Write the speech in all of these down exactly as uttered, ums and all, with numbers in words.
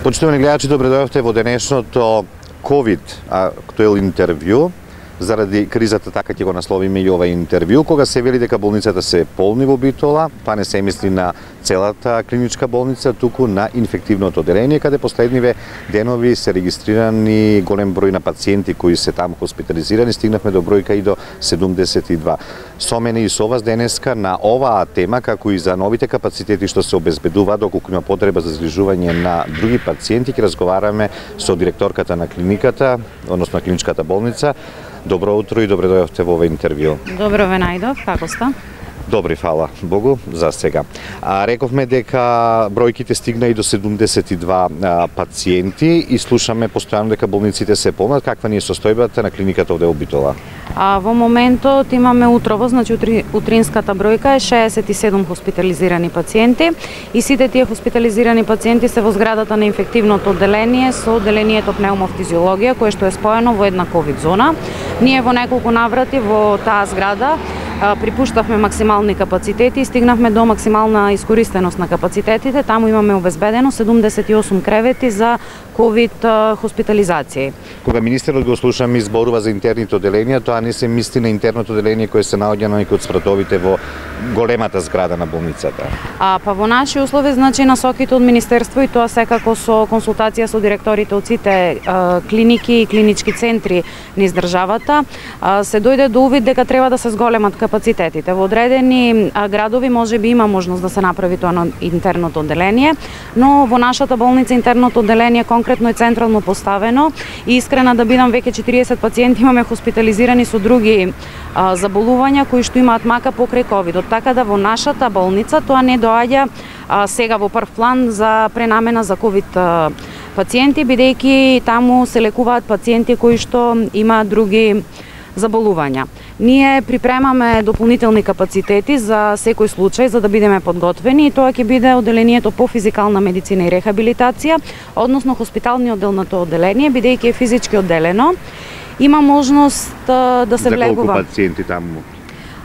Почитувани гледачи, добре дојдовте во денешното ковид актуел интервју. Заради кризата, така ќе го насловиме и ова интервју, кога се вели дека болницата се полни во Битола, па не се мисли на целата клиничка болница, туку на инфективното оделение, каде последниве денови се регистрирани голем број на пациенти кои се таму хоспитализирани, стигнавме до бројка и до седумдесет и два. Со мене и со вас денеска на оваа тема, како и за новите капацитети што се обезбедуваат доколку има потреба за згрижување на други пациенти, ќе разговараме со директорката на клиниката, односно на клиничката болница. Добро утро и добре дојдовте во ова интервју. Добро ве најдов, како сте? Добри, фала Богу за сега. А, рековме дека бројките стигна и до седумдесет и два а, пациенти и слушаме постојано дека болниците се полнат. Каква ни е состојбата на клиниката овде во Битола? А, во моментот имаме утрово, значи утри, утринската бројка е шеесет и седум хоспитализирани пациенти и сите тие хоспитализирани пациенти се во зградата на инфективното оделение со оделението пнеумофтизиологија, кое што е споено во една ковид зона. Ние во неколку наврати во таа зграда припуштавме максимални капацитети и стигнавме до максимална искористеност на капацитетите. Таму имаме обезбедено седумдесет и осум кревети за ковид хоспитализации. Кога министерот го слушам изборува за интерните оделенија, тоа не се мисли на интерното оделение кое се наоѓа на некои од спратовите во големата зграда на болницата. А па во наши услови, значи насоките од министерство и тоа секако со консултација со директорите од сите а, клиники и клинички центри низ државата, а, се дојде до увид дека треба да се зголемат капацитетите. Во одредени а, градови може би има можност да се направи тоа на интерното оделение, но во нашата болница интерното оделение конкретно е централно поставено и искрена да бидам, веќе четириесет пациенти имаме хоспитализирани со други а, заболувања кои што имаат мака покрај ковидот. Така да во нашата болница тоа не доаѓа а, сега во прв план за пренамена за ковид а, пациенти, бидејќи таму се лекуваат пациенти кои што имаат други заболувања. Ние припремаме дополнителни капацитети за секој случај за да бидеме подготвени и тоа ќе биде оделението по физикална медицина и рехабилитација, односно хоспиталниот дел на тоа оделение, бидејќи е физички одделено. Има можност а, да се за влегува. За колку пациенти таму?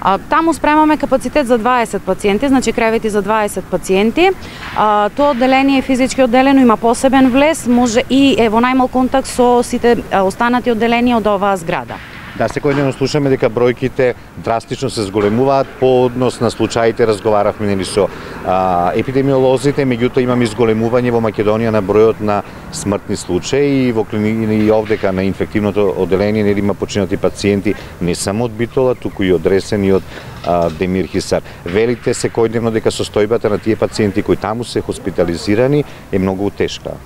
А, таму спремаме капацитет за дваесет пациенти, значи кревети за дваесет пациенти. А, тоа одделение е физички одделено, има посебен влез, може и е во најмал контакт со сите останати одделенија од оваа зграда. Да, секојдневно слушаме дека бројките драстично се зголемуваат по однос на случаите, разговаравме нели со а, епидемиолозите, меѓутоа имаме изголемување во Македонија на бројот на смртни случаи и во клиники и овдека на инфективното оделение нели има починати пациенти не само од Битола, туку и од Ресен и од а, Демир Хисар. Велите секојдневно дека состојбата на тие пациенти кои таму се хоспитализирани е многу тешка.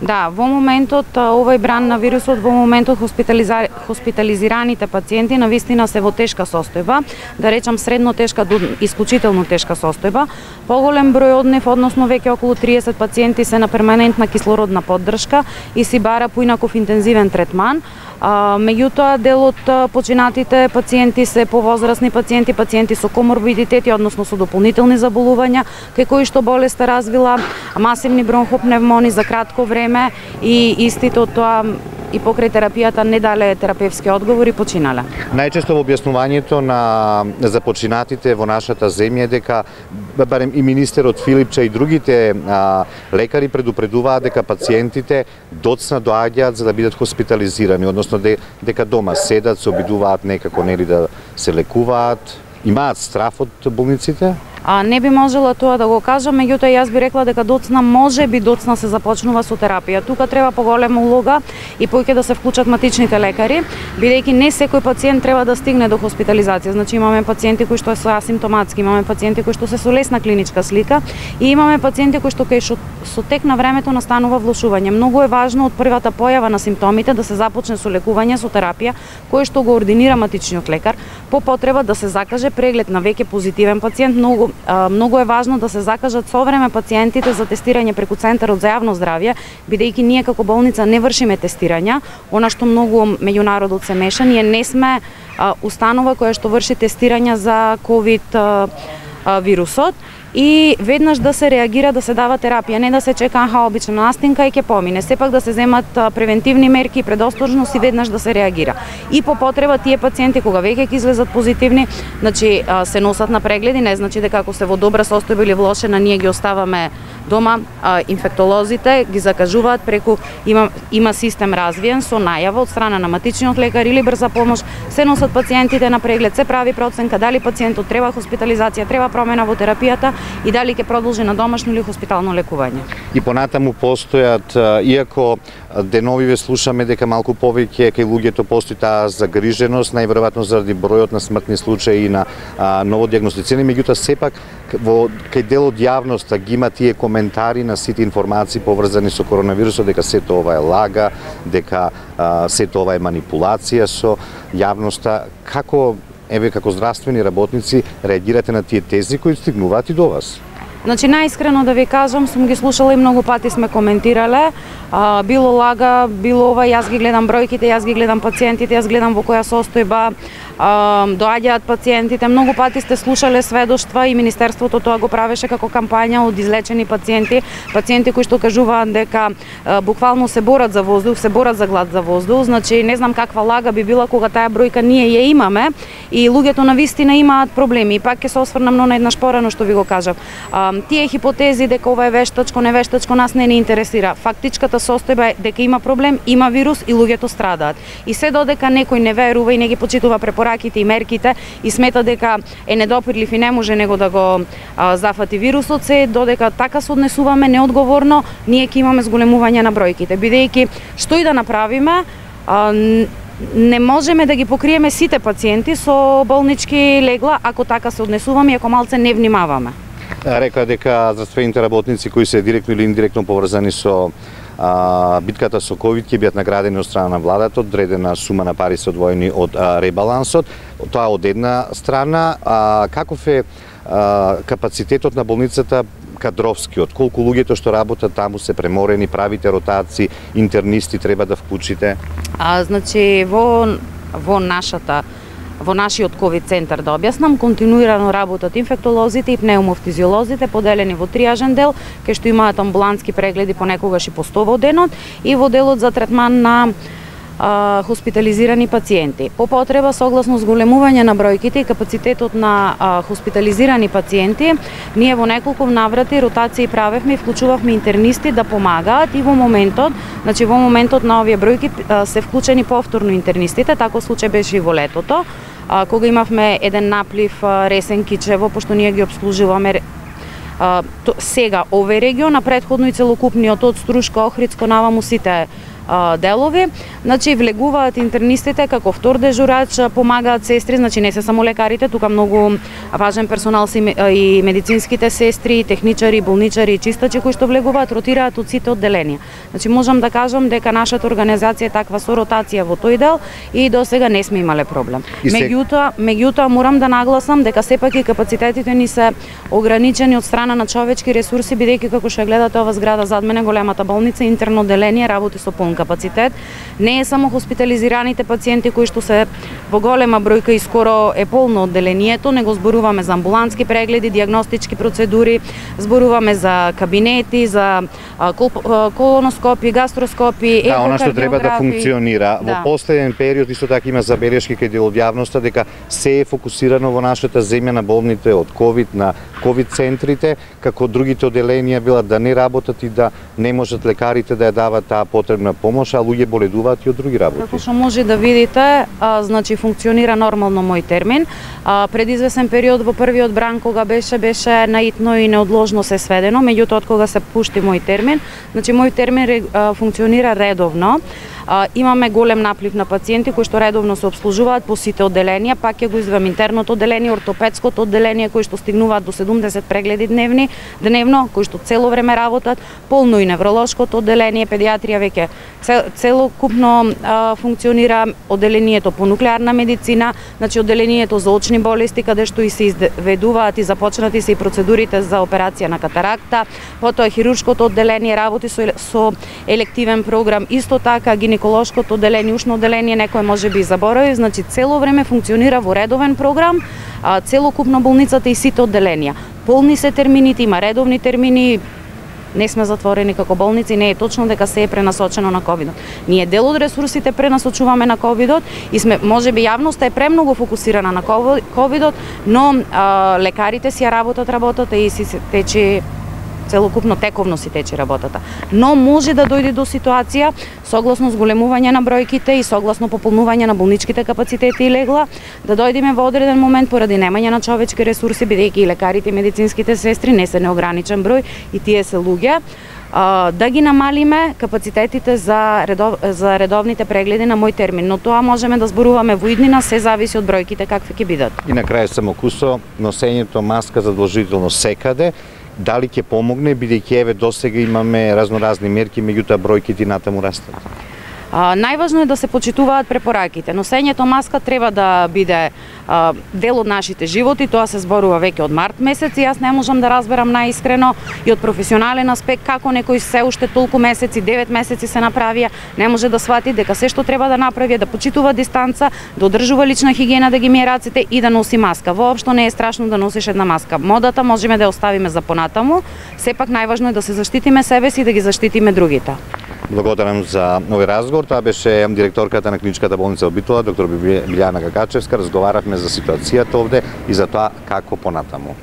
Да, во моментот овој бран на вирусот, во моментот хоспитализа... хоспитализираните пациенти навистина се во тешка состојба, да речам средно тешка до исклучително тешка состојба. Поголем број од нив, односно веќе околу триесет пациенти се на перманентна кислородна поддршка и си бара поинаков интензивен третман. А, меѓутоа, дел од починатите пациенти се повозрасни пациенти, пациенти со коморбидитети, односно со дополнителни заболувања, кај кои што болеста развила масивни бронхопневмони за кратко време и истите од тоа и покрај терапијата не дале терапевски одговори, починале. Најчесто во објаснувањето на за починатите во нашата земја дека барем и министерот Филипча и другите а, лекари предупредуваат дека пациентите доцна доаѓаат за да бидат хоспитализирани, односно де, дека дома седат, се обидуваат некако нели да се лекуваат. Имаат страф од болниците? А, не би можела тоа да го кажам, меѓутоа јас би рекла дека доцна може би доцна се започнува со терапија. Тука треба поголема улога и поќе да се вклучат матичните лекари, бидејќи не секој пациент треба да стигне до хоспитализација. Значи имаме пациенти кои што се асимптоматски, имаме пациенти кои што се со лесна клиничка слика и имаме пациенти кои што кај што со тек на времето настанува влошување. Многу е важно од првата појава на симптомите да се започне со лекување, со терапија, кој што го ординира матичниот лекар, по потреба да се закаже преглед на веќе позитивен пациент. Многу Многу е важно да се закажат со време пациентите за тестирање преку Центарот за јавно здравје, бидејќи ние како болница не вршиме тестирања, она што многу меѓу народот се меша. Ние не сме а, установа која што врши тестирања за ковид а, а, вирусот. И веднаш да се реагира, да се дава терапија, не да се чека аха обична настинка и ќе помине. Сепак да се земат превентивни мерки и предосторжност и веднаш да се реагира. И по потреба тие пациенти кога веќе ќе излезат позитивни, значи се носат на прегледи, не значи дека ако се во добра состојба или влошена ние ги оставаме Дома а, инфектолозите ги закажуваат преку има има систем развиен со најава од страна на матичниот лекар или брза помош, се носат пациентите на преглед, се прави проценка дали пациентот треба хоспитализација, треба промена во терапијата и дали ќе продолжи на домашно или хоспитално лекување. И понатаму постојат, иако деновиве слушаме дека малку повеќе кај луѓето постои таа загриженост, најверојатно заради бројот на смртни случаи и на а, новодиагностицирани, меѓутоа сепак во кај дел од јавноста ги има тие коментари на сите информации поврзани со коронавирусот, дека сето ова е лага, дека а, сето ова е манипулација со јавноста. Како, еве, како здравствени работници реагирате на тие тези кои стигнуваат и до вас? Значи, најискрено да ви кажам, сум ги слушала и многу пати сме коментирале. А, било лага, било ова, јас ги гледам бројките, јас ги гледам пациентите, јас гледам во која состојба а, доаѓаат пациентите. Многу пати сте слушале сведоштва и Министерството тоа го правеше како кампања од излечени пациенти, пациенти кои што кажуваат дека а, буквално се борат за воздух, се борат за глад за воздух. Значи, не знам каква лага би била кога таа бројка ние ја имаме и луѓето навистина имаат проблеми. И пак ќе се осврнам на еднаш порано што ви го кажав. А, тие хипотези дека ова е вештачко, не вештачко, нас не ни интересира. Фактичката состојба е дека има проблем, има вирус и луѓето страдаат. И се додека некој не верува и не ги почитува препораките и мерките и смета дека е недопирлив и не може него да го а, зафати вирусот, се додека така се однесуваме неодговорно, ние ќе имаме зголемување на бројките. Бидејќи што и да направиме, а, не можеме да ги покриеме сите пациенти со болнички легла ако така се однесуваме и ако малце не внимаваме. Река дека здравствените работници кои се директно или индиректно поврзани со а, битката со ковид ќе бидат наградени од страна на владата, одредена сума на пари се одвоени од а, ребалансот. Тоа од една страна. А, каков е а, капацитетот на болницата кадровскиот? Колку луѓето што работат таму се преморени, правите ротации, интернисти треба да вклучите? А, значи, во, во нашата Во нашиот ковид центар, да објаснам, континуирано работат инфектолозите и пнеумофтизиолозите, поделени во триажен дел, кај што имаат амбулантски прегледи понекогаш и по сто во денот, и во делот за третман на а, хоспитализирани пациенти. По потреба, согласно зголемување на бројките и капацитетот на а, хоспитализирани пациенти, ние во неколку наврати ротации правевме и вклучувавме интернисти да помагаат и во моментот, значи во моментот на овие бројки а, се вклучени повторно интернистите, тако случај беше и во летото, а, кога имавме еден наплив а, Ресен Кичево, пошто ние ги обслужуваме а, то, сега овој регион, а предходно и целокупниот од Струшка, Охридско, наваму сите делови, значи влегуваат интернистите како втор дежурач, помагаат сестри, значи не се само лекарите, тука многу важен персонал се и медицинските сестри, техничари, болничари и чистачи кои што влегуваат, ротираат од сите одделенија. Значи можам да кажам дека нашата организација е таква со ротација во тој дел и до сега не сме имале проблем. Се... Меѓутоа, меѓутоа морам да нагласам дека сепак и капацитетите ни се ограничени од страна на човечки ресурси, бидејќи како што гледате ова зграда зад мене, големата болница, интерно одделение работи со полн капацитет. Не е само хоспитализираните пациенти кои што се во голема бројка и скоро е полно одделението, него зборуваме за амбулантски прегледи, дијагностички процедури, зборуваме за кабинети, за колоноскопи, гастроскопи, екокардиографи. Да, она што треба да функционира. Да. Во последен период исто така има забелешки кај дел од јавноста дека се е фокусирано во нашата земја на болните од ковид, на ковид центрите, како другите одделенија билат да не работат и да не можат лекарите да ја дават таа потребна помош, а луѓе боледуваат и од други работи. Како што може да видите, а, значи функционира нормално мој термин. А, пред извесен период во првиот бран кога беше беше наитно и неодложно се сведено, меѓутоа од кога се пушти мој термин, значи мој термин а, функционира редовно. А, имаме голем наплив на пациенти кои што редовно се обслужуваат по сите одделенија, пак ќе го извам интерното одделение, ортопедското одделение кои што стигнуваат до седумдесет прегледи дневни, дневно, кои што цело време работат, полно и невролошкото одделение, педиатрија веќе целокупно а, функционира, одделението по нуклеарна медицина, значи одделението за очни болести каде што и се изведуваат и започнати се и процедурите за операција на катаракта, потоа хируршкото одделение работи со, со елективен програм, исто така гинеколошкото одделение, ушно одделение, некој може би заборави, значи цело време функционира во редовен програм, а, целокупно болницата и сите одделенија. Полни се термините, има редовни термини, не сме затворени како болници, не е точно дека се е пренасочено на ковидот. Ние дел од ресурсите пренасочуваме на ковидот и сме, можеби јавноста е премногу фокусирана на ковидот, но а, лекарите си ја работат работата и си тече целокупно тековно си тече работата. Но може да дојде до ситуација согласно зголемување на бројките и согласно пополнување на болничките капацитети и легла, да дојдеме во одреден момент поради немање на човечки ресурси, бидејќи и лекарите и медицинските сестри не се неограничен број и тие се луѓе, да ги намалиме капацитетите за, редов, за редовните прегледи на мој термин, но тоа можеме да зборуваме во иднина, се зависи од бројките какви ќе бидат. И на крај само кусо, носењето маска задолжително секаде, дали ќе помогне, бидејќи еве досега имаме разноразни мерки, меѓутоа бројките натаму растат? А, најважно е да се почитуваат препораките. Носењето маска треба да биде а, дел од нашите животи, тоа се зборува веќе од март месец и јас не можам да разберам најискрено и од професионален аспект како некој се уште толку месеци, девет месеци се направија, не може да свати дека се што треба да направи е да почитува дистанца, да одржува лична хигиена, да ги мие рацете и да носи маска. Воопшто не е страшно да носиш една маска. Модата можеме да ја оставиме за понатаму, сепак најважно е да се заштитиме себе си и да ги заштитиме другите. Благодарам за овој разговор. Тоа беше директорката на Клиничката болница во Битола, доктор Билјана Гагачевска. Разговаравме за ситуацијата овде и за тоа како понатаму.